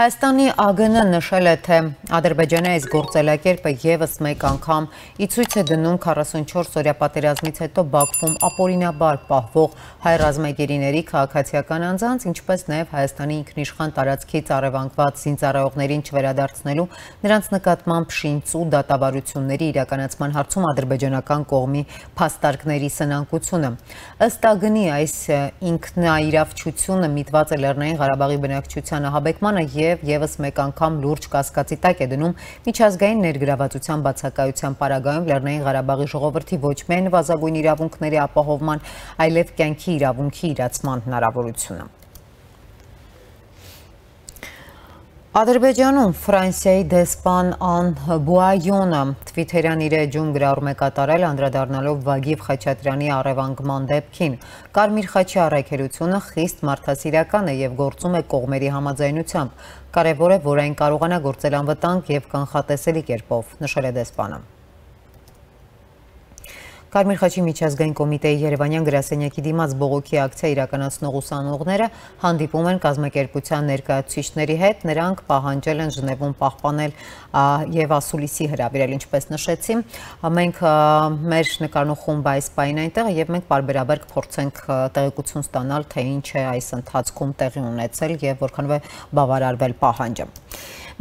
Հայաստանի ԱԳՆ-ը նշել է, թե Ադրբեջանի այս գործելակերպը ևս մեկ անգամ ի ցույց է դնում 44-օրյա պատերազմից հետո Բաքվում ապօրինաբար պահվող հայ ռազմագերիների քաղաքացիական անձանց, ինչպես նաև Հայաստանի ինքնիշխան տարածքից առևանգված զինծառայողներին չվերադարձնելու նրանց նկատմամբ շինծու դատավարությունների իրականացման հարցում ադրբեջանական կողմի փաստարկների սնանկությունը։ Ըստ ԱԳՆ-ի այս ինքնաիրավչությունը միտված է Լեռնային Ղարաբաղի բնակչության ահաբեկմանը և ևս մեկ անգամ լուրջ կասկածի տակ է դնում միջազգային ներգրավվածության բացակայության պարագայում Լեռնային Ղարաբաղի ժողովրդի ոչ միայն նվազագույն իրավունքների ապահովման, այլև կյանքի իրավունքի իրացման հնարավորությունը։ Ադրբեջանում Ֆրանսիայի դեսպան Ան Բուայոնը Թվիթերյան իր էջում գրառում է կատարել, անդրադառնալով Վագիվ Խաչատրյանի առևանգման դեպքին։ Կարմիր խաչի առաքելությունը խիստ մարդասիրական է և գործում է կողմերի համաձայնությամբ։ Կարևոր է, որ այն կարողանա գործել անվտանգ և կանխատեսելի կերպով, նշել է դեսպանը։ Կարմիր խաչի միջազգային կոմիտեի Երևանյան գրասենյակի դիմաց բողոքի ակցիա իրականացնող ուսանողները հանդիպում են կազմակերպության ներկայացուցիչների հետ, նրանք պահանջել են Ժնևում պահպանել և ասուլիսի հրավիրել, ինչպես նշեցի, մենք մեր նկարն ու խումբը այս պահին այնտեղ է և մենք պարբերաբար կփորձենք տեղեկություն ստանալ, թե ինչ է այս ընթացքում տեղի ունեցել և որքանով է բավարարվել պահանջը։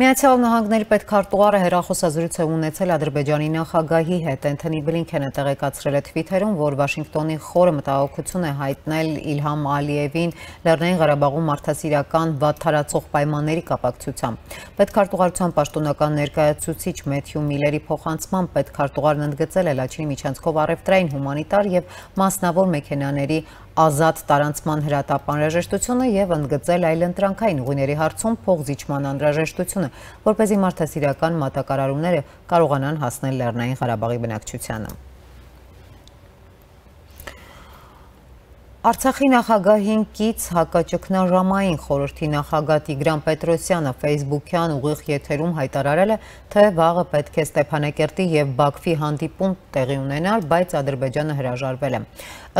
Միացյալ Նահանգների պետքարտուղարը հեռախոսազրույց է ունեցել Ադրբեջանի նախագահի հետ։ Էնթոնի Բլինքենը տեղեկացրել է Թվիթերում, որ Վաշինգտոնի խորը մտահոգություն է հայտնել Իլհամ Ալիևին Լեռնային Ղարաբաղում մարդասիրական վատթարացող պայմանների կապակցությամբ։ Պետքարտուղարության պաշտոնական ներկայացուցիչ Մեթյու Միլերի փոխանցմամբ պետքարտուղարն ընդգծել է Լաչինի միջանցքով առևտրային, հումանիտար և մասնավոր մեքենաների ազատ տարանցման հրատապ անհրաժեշտությունը և ընդգծել այլընտրանքային ուղիների հարցում փոխզիջման անհրաժեշտությունը, որպեսզի մարդասիրական մատակարարումները կարողանան հասնել Լեռնային Ղարաբաղի բնակչությանը։ Արցախի նախագահին կից հակաճգնաժամային խորհրդի նախագահ Տիգրան Պետրոսյանը Facebook-յան ուղիղ եթերում հայտարարել է, թե վաղը պետք է Ստեփանակերտի և Բաքվի հանդիպում տեղի ունենար, բայց Ադրբեջանը հրաժարվել է։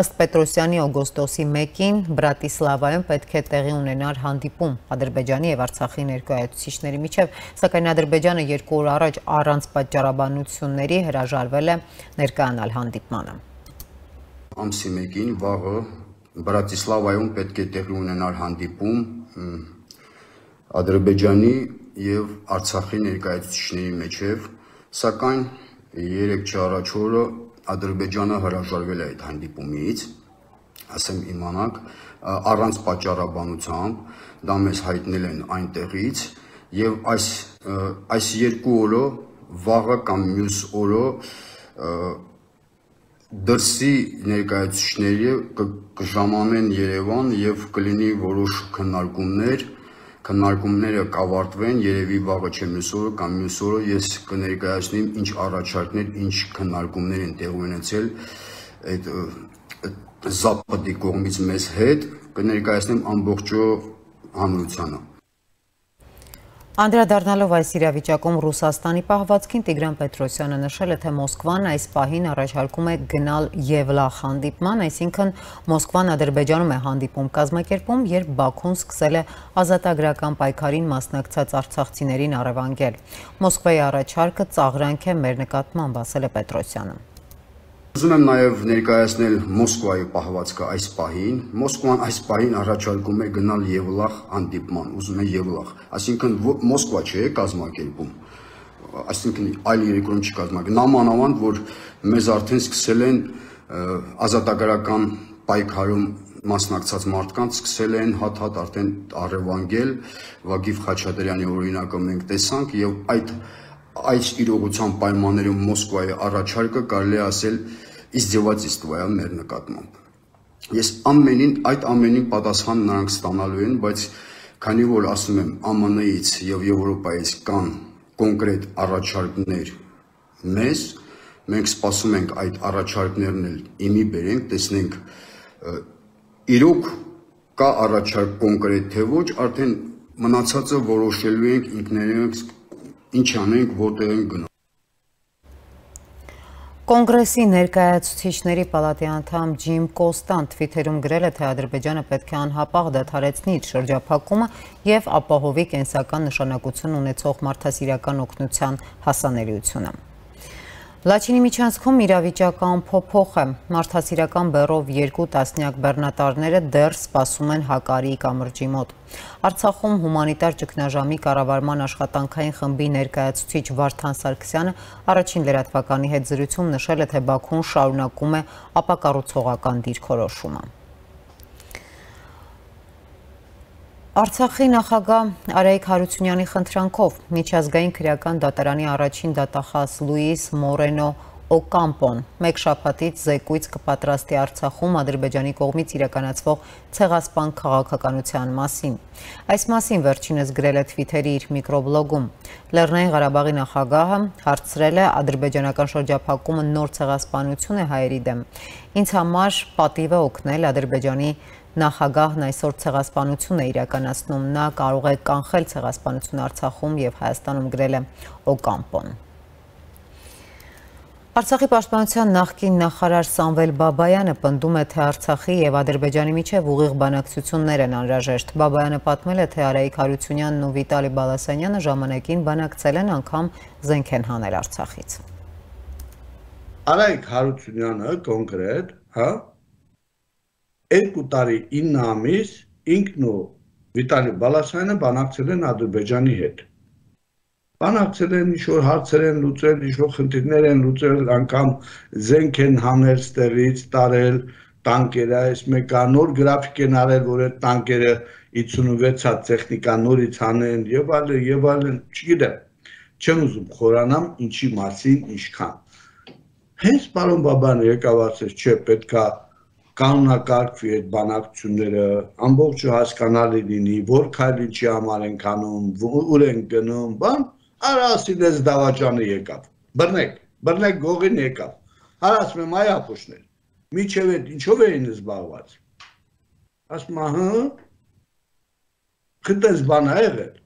Ըստ Պետրոսյանի օգոստոսի 1-ին Բրատիսլավայում պետք է տեղի ունենար հանդիպում Ադրբեջանի և Արցախի ներկայացուցիչների միջև, սակայն Ադրբեջանը 2 օր առաջ առանց պատճառաբանությունների հրաժարվել է ներկայանալ հանդիպմանը։ Ամսի 1-ին վաղը Բրատիսլավայում պետք է տեղի ունենար հանդիպում Ադրբեջանի և Արցախի ներկայացուցիչների միջև, սակայն 3 առաջ օրը Ադրբեջանը հրաժարվել է այդ հանդիպումից, ասեմ իմանաք, առանց պատճառաբանությամբ, դա մեզ հայտնել են այնտեղից, և այս 2 օրը վաղը կամ մյուս օրը դրսի ներկայացուցիչները կժամանեն Երևան և կլինի որոշ քննարկումները կավարտվեն, երևի վաղը չէ մյուս օրը կամ մյուս օրը ես կներկայացնեմ ինչ առաջարկներ, ինչ քննարկումներ են տեղի ունեցել այդ Զապադի կողմից մեզ հետ, կներկայացնեմ ամբողջ հանրությանը։ Անդրադառնալով այս իրավիճակում Ռուսաստանի պահվածքին Տիգրան Պետրոսյանը նշել է, թե Մոսկվան այս պահին առաջարկում է գնալ Եվլախ հանդիպման, այսինքն Մոսկվան Ադրբեջանում է հանդիպում կազմակերպում, երբ Բաքուն սկսել է ազատագրական պայքարին մասնակցած արցախցիներին առևանգել։ Մոսկվայի առաջարկը ծաղրանք է մեր նկատմամբ, ասել է Պետրոսյանը։ Ուզում եմ նաև ներկայացնել Մոսկվայի պահվածքը այս պահին։ Մոսկվան այս պահին առաջարկում է գնալ Եվլախ հանդիպման, ուզում է Եվլախ, այսինքն Մոսկվա չէ կազմակերպում, այսինքն այլ երկրում չի կազմակերպում, նամանավանդ, որ մեզ արդեն սկսել են ազատագրական պայքարում մասնակցած մարդկանց սկսել են հատ-հատ արդեն առևանգել, Վագիվ Խաչատրյանի օրինակը մենք տեսանք և այս իրողության պայմաններում Մոսկվայի առաջարկը կարելի է ասել իզդևательство է մեր նկատմամբ։ Ես այդ ամենին պատասխան նրանք ստանալու են, բայց քանի որ ասում եմ ԱՄՆ-ից և Եվրոպայից կան կոնկրետ առաջարկներ մեզ, մենք սպասում ենք այդ առաջարկներն էլ իմի բերենք, տեսնենք իրոք կա առաջարկ կոնկրետ թե ոչ, արդեն մնացածը որոշելու ենք ինքներինք ինչ անենք, որտեղ ենք գնալ։ Կոնգրեսի ներկայացուցիչների պալատի անդամ Ջիմ Կոստան Թվիթերում գրել է, թե Ադրբեջանը պետք է անհապաղ դադարեցնի իր շրջափակումը եւ ապահովի կենսական նշանակություն ունեցող մարդասիրական օգնության հասանելիությունը։ Լաչինի միջանցքում իրավիճակը անփոփոխ է։ Մարդասիրական բեռով 2 տասնյակ բեռնատարները դեռ սպասում են Հակարիի կամրջի մոտ։ Արցախում հումանիտար ճգնաժամի կառավարման աշխատանքային խմբի ներկայացուցիչ Վարդան Սարգսյանը առաջին լրատվականի հետ զրույցում նշել է, թե Բաքուն շարունակում է ապակառուցողական դիրքորոշումը։ Արցախի նախագահ Արայիկ Հարությունյանի խնդրանքով միջազգային քրեական դատարանի առաջին դատախազ Լուիս Մորենո Օկամպոն մեկ շաբաթից զեկույց կպատրաստի Արցախում Ադրբեջանի կողմից իրականացվող ցեղասպան քաղաքականության մասին։ Այս մասին վերջինս գրել է Թվիթերի իր միկրոբլոգում։ Լեռնային Ղարաբաղի նախագահը հարցրել է ադրբեջանական շրջափակումը նոր ցեղասպանություն է հայերի դեմ։ Ինձ համար պատիվ է օգնել Ադրբեջանի նախագահն այսօր ցեղասպանություն է իրականացնում, նա կարող է կանխել ցեղասպանություն Արցախում եւ Հայաստանում, գրել է Օկամպոն։ Արցախի պաշտպանության նախկին նախարար Սամվել Բաբայանը պնդում է, թե Արցախի եւ Ադրբեջանի միջև ուղիղ բանակցություններ են անհրաժեշտ։ Բաբայանը պատմել է, թե Արայիկ Հարությունյանն ու Վիտալի Բալասանյանը ժամանակին բանակցել են, անգամ զենք են հանել Արցախից։ Արայիկ Հարությունյանը կոնկրետ, 2 տարի 9 ամիս ինքն ու Վիտալի Բալասանյանը բանակցել են Ադրբեջանի հետ։ Բանակցել են, ինչ-որ հարցեր են լուծել, ինչ-որ խնդիրներ են լուծել, անգամ զենք են հանել ստեղից, տարել, տանկերը, այս մեկը նոր գրաֆիկ են արել, որ այդ տանկերը 56 հատ տեխնիկա նորից հանեն եւ այլն, չգիտեմ, չեմ ուզում խորանամ ինչի մասին ինչքան։ Հենց պարոն Բաբան եկավ ասեց, չէ, պետքա կանոնակարգվի այդ բանակցությունները, ամբողջը հասկանալի լինի, որ քայլ ինչի համար ենք անում, ուր են գնում, բան, արա ասին ես դավաճանը եկավ, բռնեք գողին եկավ, հարասում եմ այ ապուշներ, միջև էդ ինչով էին զբաղված, ասում խտես բան ա եղել,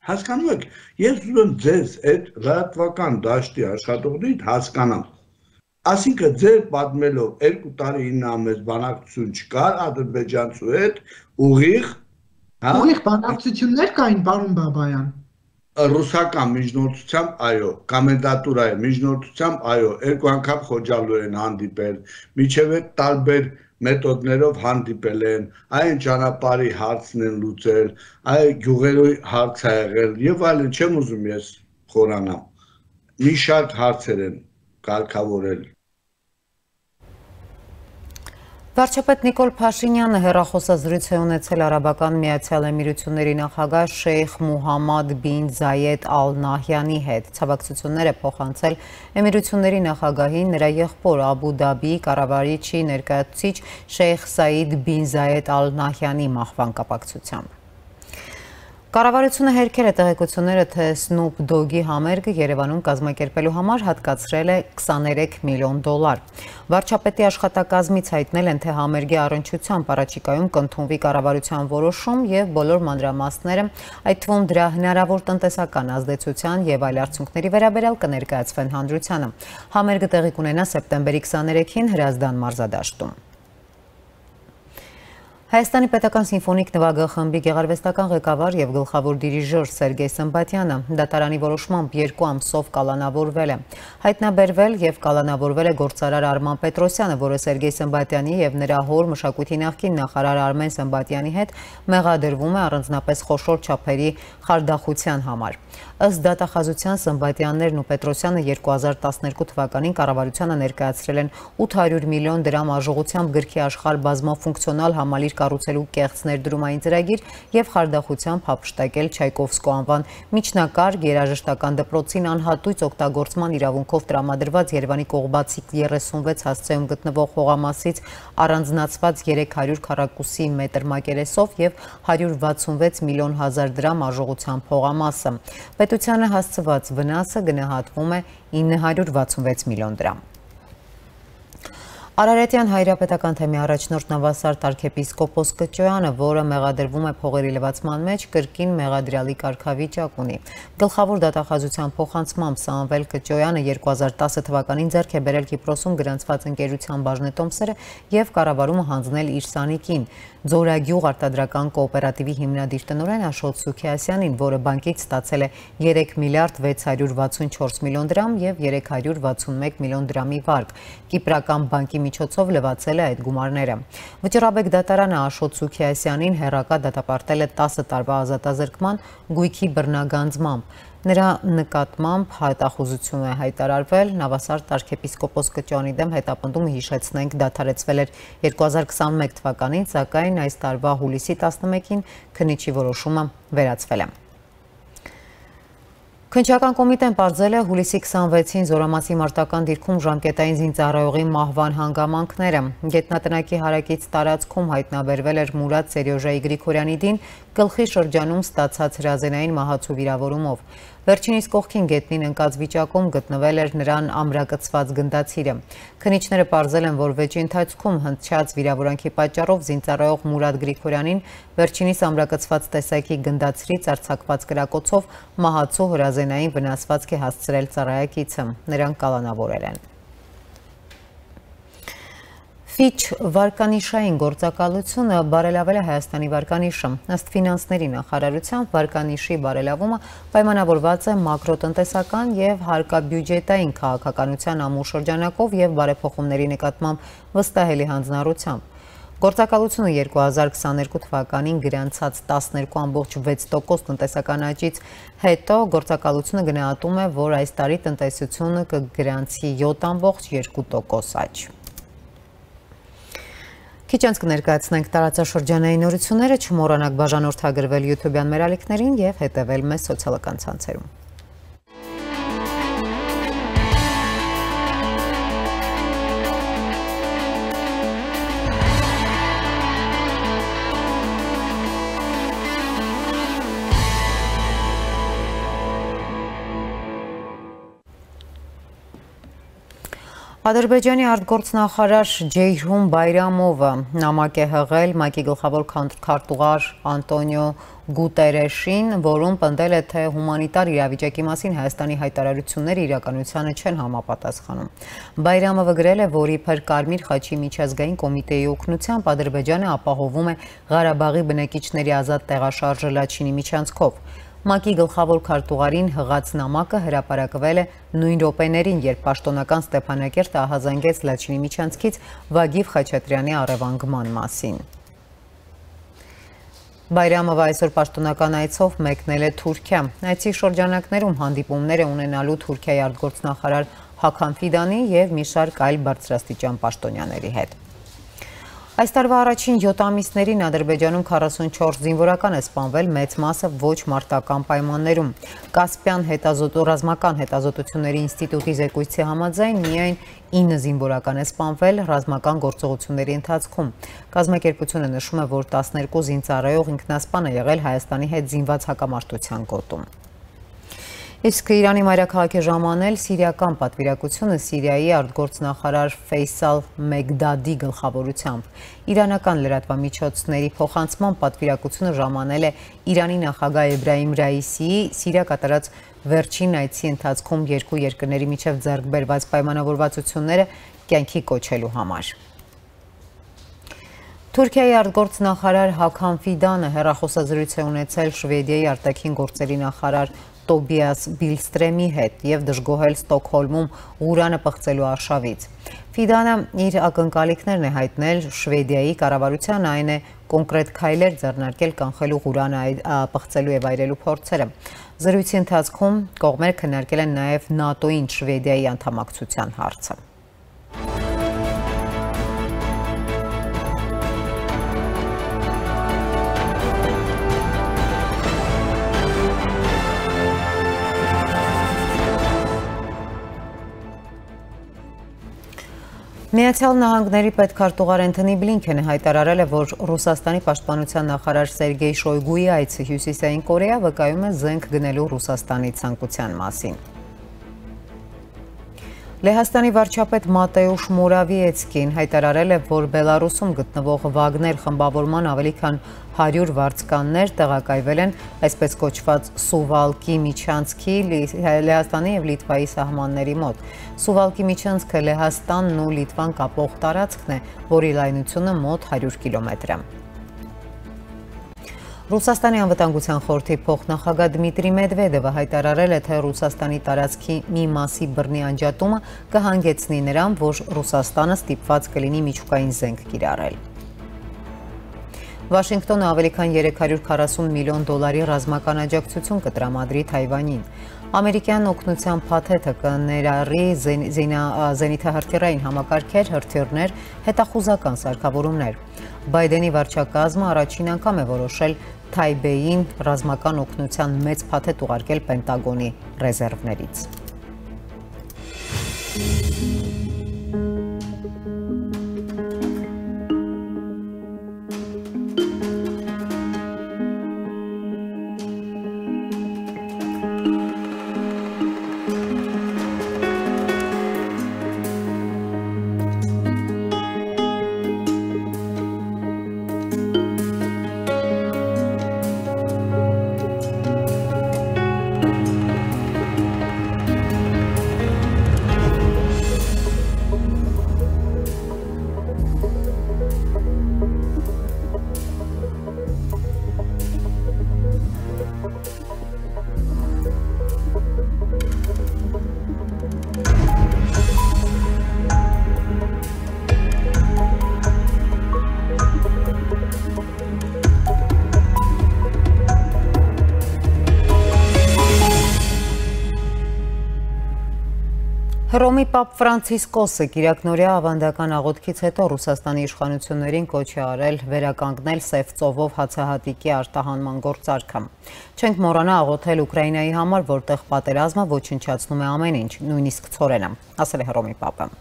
հասկանում եք, ես ուզում եմ ձեզ այդ լրատվական դաշտի աշխատողներից հասկանամ, ասինքն ձեր պատմելով 2 տարի 9 ամիս բանակցություն չկար ադրբեջանցու հետ ուղիղ բանակցություններ կային, պարոն Բաբայան։ Ռուսական միջնորդությամբ, այո, կոմենդատուրայի միջնորդությամբ, այո, 2 անգամ Խոջալու են հանդիպել, միջև այդ տարբեր մեթոդներով հանդիպել են, այն ճանապարհի հարցն են լուծել, այ գյուղերի հարց ա եղել եւ այլն, չեմ ուզում ես խորանամ։ Մի շարք հարցեր են կարգավորել։ Վարչապետ Նիկոլ Փաշինյանը հեռախոսազրույց է ունեցել Արաբական Միացյալ Էմիրությունների նախագահ Շեյխ Մուհամմադ բին Զայեդ Ալ Նահյանի հետ։ Ցավակցություններ է փոխանցել Էմիրությունների նախագահին նրա եղբոր Աբու Դաբիի կառավարիչի ներկայացուցիչ Շեյխ Սայիդ բին Զայեդ Ալ Նահյանի մահվան կապակցությամբ։ Կառավարությունը հերքել է տեղեկությունները, թե Snoop Dogg-ի համերգը Երևանում կազմակերպելու համար հատկացրել է $23 միլիոն։ Վարչապետի աշխատակազմից հայտնել են, թե համերգի առնչությամբ առաջիկայում կընդունվի կառավարության որոշում եւ բոլոր մանրամասները, այդ թվում դրա հնարավոր տնտեսական ազդեցության եւ այլ արդյունքների վերաբերյալ կներկայացվեն հանրությանը։ Համերգը տեղի կունենա սեպտեմբերի 23-ին Հրազդան մարզադաշտում։ Հայաստանի պետական սիմֆոնիկ նվագախմբի խմբի գեղարվեստական ղեկավար եւ գլխավոր դիրիժոր Սերգեյ Սմբատյանը դատարանի որոշմամբ 2 ամսով կալանավորվել է։ Հայտնաբերվել եւ կալանավորվել է գործարար Արման Պետրոսյանը, որը Սերգեյ Սմբատյանի եւ նրա հոր մշակույթի նախկին նախարար Արմեն Սմբատյանի հետ մեղադրվում է առանձնապես խոշոր չափերի խարդախության համար։ Ըստ դատախազության Սմբատյաններն ու Պետրոսյանը 2012 թվականին կառավարությանը ներկայացրել են 800 միլիոն դրամ արժողությամբ գրքի աշխարհ բազմաֆունկցիոնալ համալիր կառուցելու կեղծ ներդրումային ծրագիր եւ խարդախությամբ հափշտակել Չայկովսկու անվան միջնակարգ երաժշտական դպրոցին անհատույց օգտագործման իրավունքով տրամադրված Երևանի Կողբացի 36 հասցեում գտնվող հողամասից առանձնացված 300 քառակուսի մետր մակերեսով եւ 166 միլիոն հազար դրամ արժողությամբ հողամասը։ Պետությանը հասցված վնասը գնահատվում է 966 միլիոն դրամ։ Արարատյան հայրապետական թեմի առաջնորդ նավասարդ arczepiskopos Կճոյանը, որը մեղադրվում է փողերի լվացման մեջ, կրկին մեղադրյալի կարգավիճակ ունի։ Գլխավոր դատախազության փոխանցմամբ Սամվել Կճոյանը 2010 թվականին ձեռք է բերել Կիպրոսում գրանցված ընկերության բաժնետոմսերը եւ կառավարումը հանձնել իր սանիկին։ Ձորագյուղ արտադրական կոոպերատիվի հիմնադիր տնօրեն Աշոտ Սուքիասյանին, որը բանկից ստացել է 3 միլիարդ 664 միլիոն դրամ եւ 361 միլիոն դրամի վարկ։ Կիպրական բանկի միջոցով լվացել է այդ գումարները։ Վճռաբեկ դատարանը Աշոտ Սուքիասյանին հեռակա դատապարտել է 10 տարվա ազատազրկման գույքի բռնագանձմամբ։ Նրա նկատմամբ հայտախուզություն է հայտարարվել, նավասարդ arczepiskopos Կճոյանի դեմ հետապնդումը հիշեցնենք դադարեցվել էր 2021 թվականին, սակայն այս տարվա հուլիսի 11-ին քննիչի որոշումը վերացվել է։ Քննչական կոմիտեն պարզել է հուլիսի 26-ին Զորամասի մարտական դիրքում ժամկետային զինծառայողի մահվան հանգամանքները։ Գետնատնակի հարակից տարածքում հայտնաբերվել էր Մուրադ Սերյոժայի Գրիգորյանի դին գլխի շրջանում ստացած հրազենային մահացու վիրավորումով։ Վերջինիս կողքին գետնին ընկած վիճակում գտնվել էր նրան ամրակցված գնդացիրը։ Քննիչները պարզել են, որ վեճի ընթացքում հնչած վիրավորանքի պատճառով զինծառայող Մուրադ Գրիգորյանին վերջինիս ամրակցված տեսակի գնդացրից արձակված կրակոցով մահացու հրազենային վնասվածք է հասցրել ծառայակիցը։ Նրանք կալանավորել են։ Ֆիչ վարկանիշային գործակալությունը բարելավել է Հայաստանի վարկանիշը։ Ըստ ֆինանսների նախարարության վարկանիշի բարելավումը պայմանավորված է մակրոտնտեսական եւ հարկաբյուջետային քաղաքականության ամուր շրջանակով եւ բարեփոխումների նկատմամբ վստահելի հանձնառությամբ։ Գործակալությունը 2022 թվականին գրանցած 12.6% տնտեսական աճից հետո գործակալությունը գնահատում է, որ այս տարի տնտեսությունը կգրանցի 7.2% աճ։ Քիչ անց կներկայացնենք տարածաշրջանային նորությունները, չմոռանաք բաժանորդագրվել YouTube-յան մեր ալիքներին եւ հետեւել մեզ սոցիալական ցանցերում։ Ադրբեջանի արտգործնախարար Ջեյհուն Բայրամովը նամակ է հղել ՄԱԿ-ի գլխավոր քարտուղար Անտոնիո Գուտերեշին, որում պնդել է, թե հումանիտար իրավիճակի մասին Հայաստանի հայտարարությունները իրականությանը չեն համապատասխանում։ Բայրամովը գրել է, որ իբր Կարմիր խաչի միջազգային կոմիտեի օգնությամբ Ադրբեջանը ապահովում է Ղարաբաղի բնակիչների ազատ տեղաշարժը Լաչինի միջանցքով։ ՄԱԿ-ի գլխավոր քարտուղարին հղած նամակը հրապարակվել է նույն րոպեներին, երբ պաշտոնական Ստեփանակերտը ահազանգեց Լաչինի միջանցքից Վագիվ Խաչատրյանի առևանգման մասին։ Բայրամովը այսօր պաշտոնական այցով մեկնել է Թուրքիա։ Այցի շրջանակներում հանդիպումներ է ունենալու Թուրքիայի արտգործնախարար Հաքան Ֆիդանի եւ մի շարք այլ բարձրաստիճան պաշտոնյաների հետ։ Այս տարվա առաջին 7 ամիսներին Ադրբեջանում 44 զինվորական է սպանվել, մեծ մասը ոչ մարտական պայմաններում։ Կասպյան ռազմական հետազոտությունների ինստիտուտի զեկույցի համաձայն միայն 9 զինվորական է սպանվել ռազմական գործողությունների ընթացքում։ Կազմակերպությունը նշում է, որ 12 զինծառայող ինքնասպան է եղել Հայաստանի հետ զինված հակամարտության գոտում։ Իսկ Իրանի մայրաքաղաքի ժամանել սիրիական պատվիրակությունը Սիրիայի արտգործնախարար Ֆեյսալ Մեգդադի գլխավորությամբ։ Իրանական լրատվամիջոցների փոխանցման պատվիրակությունը ժամանել է Իրանի նախագահ Էբրահիմ Ռայիսիի Սիրիա կատարած վերջին այցի ընթացքում երկու երկրների միջև ձեռք բերված պայմանավորվածությունները կյանքի կոչելու համար։ Թուրքիայի արտգործնախարար Հաքան Ֆիդանը հեռախոսազրույց է ունեցել Շվեդիայի արտաքին գործերի նախարար Տոբիաս Բիլստրեմի հետ եւ դժգոհել Ստոկհոլմում ուրանը պղծելու արշավից։ Ֆիդանը իր ակնկալիքներն է հայտնել Շվեդիայի կառավարության, այն է կոնկրետ քայլեր ձեռնարկել կանխելու ուրանը պղծելու եւ այրելու փորձերը։ Զրույցի ընթացքում կողմերը քննարկել են նաեւ ՆԱՏՕ-ին Շվեդիայի անդամակցության հարցը։ Միացյալ Նահանգների պետքարտուղար Անթոնի Բլինքենը հայտարարել է, որ Ռուսաստանի պաշտպանության նախարար Սերգեյ Շոյգուի այցը Հյուսիսային Կորեա վկայում է զենք գնելու Ռուսաստանի ցանկության մասին։ Լեհաստանի վարչապետ Մատեուշ Մորավիեցկին հայտարարել է, որ Բելարուսում գտնվող Վագներ խմբավորման ավելի քան 100 վարձկաններ տեղակայվել են այսպես կոչված Սուվալկի միջանցքի Լեհաստանի և Լիտվայի սահմանների մոտ։ Սուվալկի միջանցքը Լեհաստանն ու Լիտվան կապող տարածքն է, որի լայնությունը մոտ 100 կիլոմետր է։ Ռուսաստանի անվտանգության խորհրդի փոխնախագահ Դմիտրի Մեդվեդևը հայտարարել է, թե Ռուսաստանի տարածքի մի մասի բռնի անջատումը կհանգեցնի նրան, որ Ռուսաստանը ստիպված կլինի միջուկային զենք կիրառել։ Վաշինգտոնը ավելի քան 340 միլիոն դոլարի ռազմական աջակցություն կտրամադրի Թայվանին։ Ամերիկյան օգնության փաթեթը կներառի զենիթահրթիռային համակարգեր, հրթիռներ, հետախուզական սարքավորումներ։ Բայդենի վարչակազմը առաջին անգամ է որոշել Թայբեյին ռազմական օգնության մեծ փաթեթ ուղարկել Պենտագոնի ռեզերվներից։ Հռոմի Պապ Ֆրանցիսկոսը կիրակնօրյա ավանդական աղոթքից հետո Ռուսաստանի իշխանություններին կոչ է արել վերականգնել Սև ծովով հացահատիկի արտահանման գործարքը։ Չենք մոռանա աղոթել Ուկրաինայի համար, որտեղ պատերազմը ոչնչացնում է ամեն ինչ, նույնիսկ ցորենը, ասել է Հռոմի Պապը։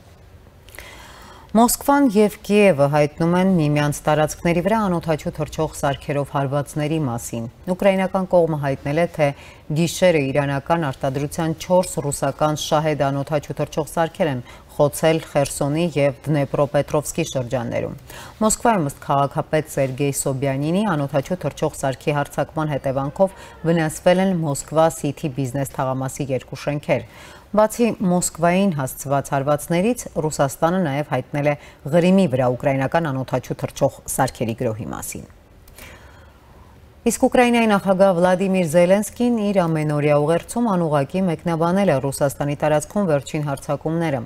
Մոսկվան և Կիևը հայտնում են միմյանց տարածքների վրա անօդաչու թռչող սարքերով հարվածների մասին։ Ուկրաինական կողմը հայտնել է, թե գիշերը իրանական արտադրության 4 ռուսական շահեդ անօդաչու թռչող սարքեր են խոցել Խերսոնի և Դնեպրոպետրովսկի շրջաններում։ Մոսկվայում ըստ քաղաքապետ Սերգեյ Սոբյանինի անօդաչու թռչող սարքի հարձակման հետևանքով վնասվել են Մոսկվա Սիթի բիզնես թաղամասի 2 շենքեր։ Բացի Մոսկվային հասցված հարվածներից, Ռուսաստանը նաև հայտնել է Ղրիմի վրա ուկրաինական անօդաչու թռչող սարքերի գրոհի մասին։ Իսկ Ուկրաինայի նախագահ Վլադիմիր Զելենսկին իր ամենօրյա ուղերձում անուղղակի մեկնաբանել է Ռուսաստանի տարածքում վերջին հարձակումները։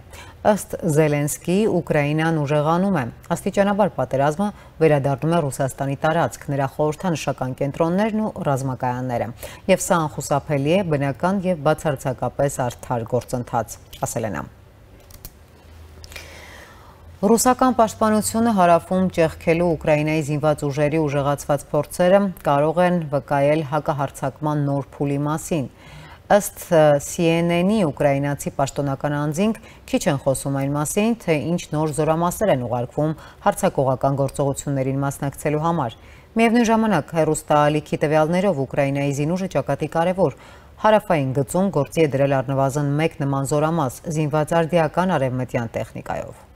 Ըստ Զելենսկիի, Ուկրաինան ուժեղանում է, աստիճանաբար պատերազմը վերադառնում է Ռուսաստանի տարածք, նրա խորհրդանշական կենտրոններն ու ռազմակայանները, եւ սա անխուսափելի է, բնական եւ բացարձակապես արդար գործընթաց, ասել է նա։ Ռուսական պաշտպանությունը հարավում ճեղքելու Ուկրաինայի զինված ուժերի ուժեղացված փորձերը կարող են վկայել հակահարձակման նոր փուլի մասին։ Ըստ CNN-ի ուկրաինացի պաշտոնական անձինք քիչ են խոսում այն մասին, թե ինչ նոր զորամասեր են ուղարկվում հարձակողական գործողություններին մասնակցելու համար։ Միևնույն ժամանակ հեռուստաալիքի տվյալներով Ուկրաինայի զինուժը ճակատի կարևոր հարավային գծում գործի է դրել առնվազն 1 նման զորամաս զինված արդիական արևմտյան տեխնիկայով։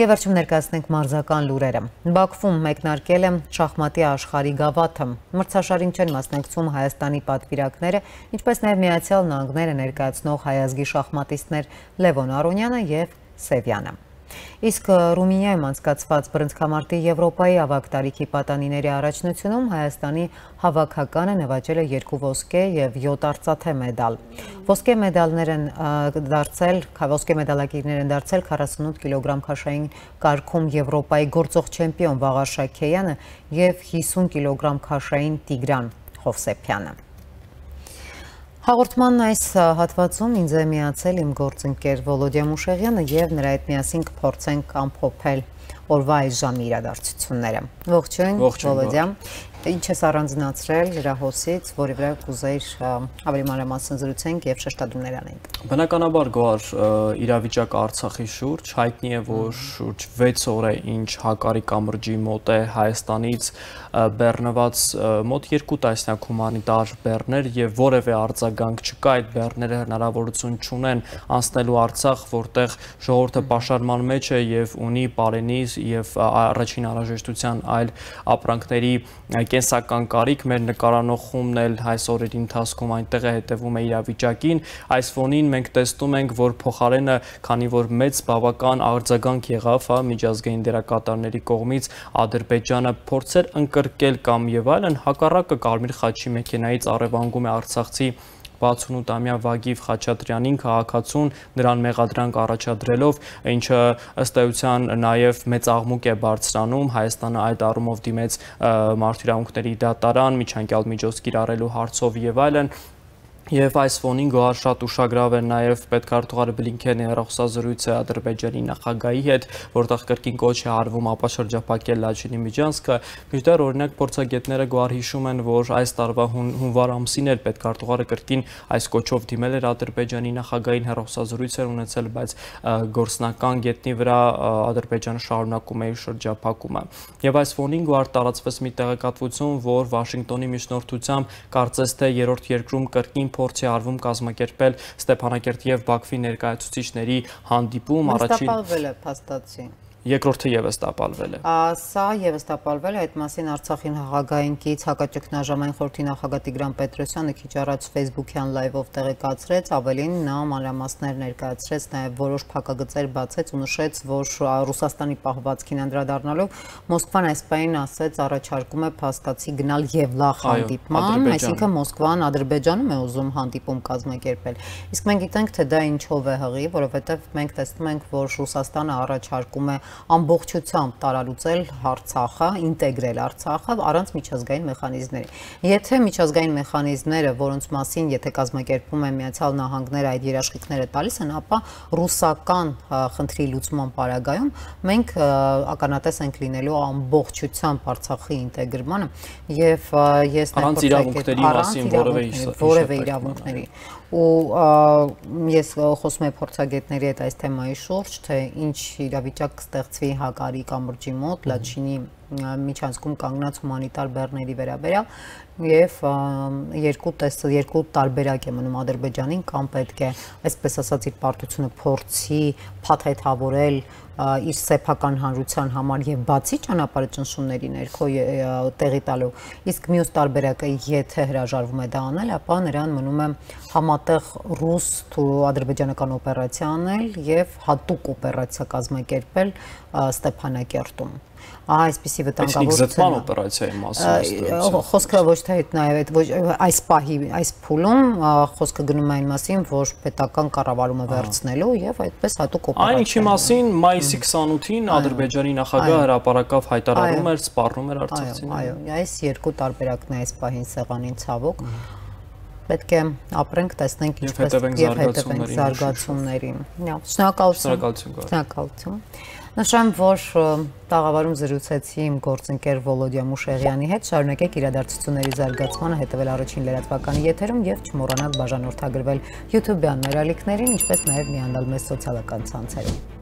Եվ վերջում ներկայացնենք մարզական լուրերը։ Բաքվում մեկնարկել է շախմատի աշխարհի գավաթը։ Մրցաշարին չեն մասնակցում Հայաստանի պատվիրակները, ինչպես նաև Միացյալ Նահանգները ներկայացնող հայ ազգի շախմատիստներ Լևոն Արոնյանը եւ Սևյանը։ Իսկ Ռումինիայում անցկացված բռնցքամարտի Եվրոպայի ավագ տարիքի պատանիների առաջնությունում Հայաստանի հավաքականը նվաճել է 2 ոսկե եւ 7 արծաթե մեդալ։ Ոսկե մեդալակիրներ են դարձել 48 կիլոգրամ քաշային կարգում Եվրոպայի գործող չեմպիոն Վաղար Շաքեյանը եւ 50 կիլոգրամ քաշային Տիգրան Հովսեփյանը։ Հաղորդման այս հատվածում ինձ է միացել իմ գործընկեր Վոլոդիա Մուշեղյանը եւ նրա հետ միասին կփորձենք ամփոփել օրվա այս ժամի իրադարձությունները։ Ողջույն Վոլոդիա։ Ինչ ես առանձնացրել հրահոսից, որի վրա կուզեիր ավելի մանրամասն զրուցենք եւ շեշտադրումներ անենք։ Բնականաբար գոհար իրավիճակը Արցախի շուրջ հայտնի է, որ շուրջ 6 օր է ինչ Հակարի կամրջի մոտ է Հայաստանից բեռնված մոտ 2 տասնյակ հումանիտար բեռներ եւ որևէ արձագանք չկա, այդ բեռները հնարավորություն չունեն անցնելու Արցախ, որտեղ ժողովուրդը պաշարման մեջ է եւ ունի պարենի եւ առաջին անհրաժեշտության այլ ապրանքների կենսական կարիք, մեր նկարանող խումբն էլ այս օրերի ընթացքում այնտեղ է հետևում է իրավիճակին, այս ֆոնին մենք տեսնում ենք, որ փոխարենը, քանի որ մեծ բավական արձագանք եղավ միջազգային դերակատարների կողմից, Ադրբեջանը փորձեր ընկրկել կամ եւ այլն, հակառակը Կարմիր խաչի մեքենայից առևանգում է արցախցի 68-ամյա Վագիվ Խաչատրյանին քաղաքացուն նրան մեղադրանք առաջադրելով, ինչը ըստ էության նաև մեծ աղմուկ է բարձրանում, Հայաստանը այդ առումով դիմեց մարդու իրավունքների դատարան, միջանկյալ միջոց կիրառելու հարցով եւ այլն։ Եվ այս ֆոնին գոհար շատ ուշագրավ է նաև պետքարտուղար Բլինքենի հեռախոսազրույցը Ադրբեջանի նախագահի հետ, որտեղ կրկին կոչ է արվում ապաշրջափակել Լաչինի միջանցքը։ Մինչդեռ օրինակ փորձագետները գոհար հիշում են, որ այս տարվա հունվար ամսին էլ պետքարտուղարը կրկին այս կոչով դիմել էր Ադրբեջանի նախագահին, հեռախոսազրույց էր ունեցել, բայց գործնական գետնի վրա Ադրբեջանը շարունակում է իր շրջափակումը։ Եվ այս ֆոնին գոհար տարածվեց մի տեղեկատվություն, որ Վաշինգտոնի միջնորդությամբ կարծես թե երրորդ երկրում կրկին փորձ է արվում կազմակերպել Ստեփանակերտի եւ Բաքվի ներկայացուցիչների հանդիպում, առաջին տապալվել է փաստացի։ Երկրորդը եւս տապալվել է։ Սա եւս տապալվել է, այդ մասին Արցախին հաղագային կից հակաճգնաժամային խորհրդի նախագահ Տիգրան Պետրոսյանը քիչ առաջ Facebook-յան լայվով տեղեկացրեց, ավելին նա մանրամասներ ներկայացրեց, նաեւ որոշ փակագծեր բացեց ու նշեց, որ Ռուսաստանի պահվածքին անդրադառնալով Մոսկվան այս պահին ասեց առաջարկում է փաստացի գնալ Եվլախ հանդիպման, այսինքն Մոսկվան Ադրբեջանում է ուզում հանդիպում կազմակերպել։ Իսկ մենք գիտենք, թե դա ինչով է հղի, որովհետեւ մենք տեսնում ենք, որ Ռուսաստանը առաջարկում է ամբողջությամբ տարալուծել Արցախը, ինտեգրել Արցախը առանց միջազգային մեխանիզմների։ Եթե միջազգային մեխանիզմները, որոնց մասին եթե կազմակերպում է Միացյալ Նահանգները այդ երաշխիքները տալիս են, ապա ռուսական խնդրի լուծման պարագայում մենք ականատես ենք լինելու ամբողջությամբ Արցախի ինտեգրմանը եւ ես առանց իրավունքների մասին որևէ իրավունքների ու ես խոսում եմ փորձագետների հետ այս թեմայի շուրջ, թե ինչ իրավիճակ կստեղծվի Հակարի կամրջի մոտ, Լաչինի միջանցքում կանգնած հումանիտար բեռների վերաբերյալ եւ երկու տարբերակ է մնում Ադրբեջանին, կամ պետք է, այսպես ասած, իր պարտությունը փորձի փաթեթավորել իր սեփական հանրության համար եւ բացի ճանապարհը ճնշումների ներքո տեղի տալու, իսկ մյուս տարբերակը, եթե հրաժարվում է դա անել, ապա նրան մնում է համատեղ ռուս-ադրբեջանական օպերացիա անել եւ հատուկ օպերացիա կազմակերպել Ստեփանակերտում։ Այսպիսի վտանգավոր զտման օպերացիայի մասին խոսքը ոչ թե նաև այս պահի այս փուլում խոսքը գնում է այն մասին, որ պետական կառավարումը վերցնելու եւ այդպես հատուկ օպերացիա։ Այն ինչի մասին մայիսի 28-ին Ադրբեջանի նախագահը հրապարակավ հայտարարում էր, սպառնում էր արցախցիներին։ Այո, այս երկու տարբերակն է այս պահին սեղանին ցավոք։ Պետք է ապրենք, տեսնենք ինչպես եւ հետևենք զարգացումներին։ Շնորհակալություն։ Նշեմ, որ տաղավարում զրուցեցի իմ գործընկեր Վոլոդիա Մուշեղյանի հետ, շարունակեք իրադարձությունների զարգացմանը հետևել առաջին լրատվականի եթերում եւ չմոռանաք բաժանորդագրվել YouTube-յան մեր ալիքներին, ինչպես նաեւ միանալ մեզ սոցիալական ցանցերում։